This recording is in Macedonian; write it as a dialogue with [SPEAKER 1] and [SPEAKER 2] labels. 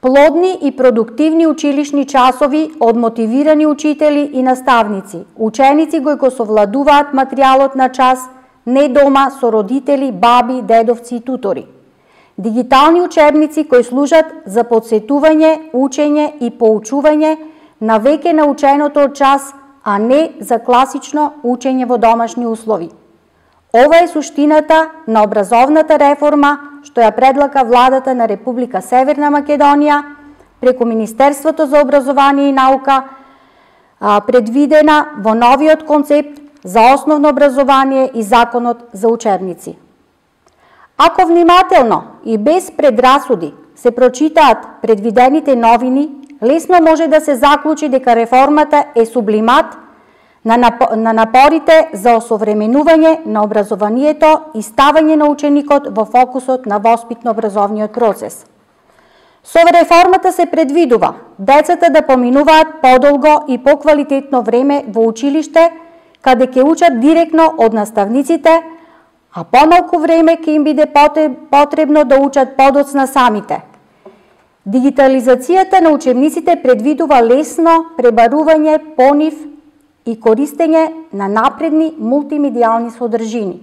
[SPEAKER 1] Плодни и продуктивни училишни часови од мотивирани учители и наставници. Ученици кои го совладуваат материјалот на час, не дома со родители, баби, дедовци и тутори. Дигитални учебници кои служат за подсетување, учење и поучување на веќе наученото од час, а не за класично учење во домашни услови. Ова е суштината на образовната реформа што ја предлага владата на Република Северна Македонија преку Министерството за образование и наука, предвидена во новиот концепт за основно образование и законот за учебници. Ако внимателно и без предрасуди се прочитаат предвидените новини, лесно може да се заклучи дека реформата е сублимат на напорите за осовременување на образованието и ставање на ученикот во фокусот на воспитно-образовниот процес. Со реформата се предвидува децата да поминуваат подолго и поквалитетно време во училиште, каде ќе учат директно од наставниците, а помалку време ќе им биде потребно да учат подоцна самите. Дигитализацијата на учебниците предвидува лесно пребарување по нив и користење на напредни мултимедијални содржини.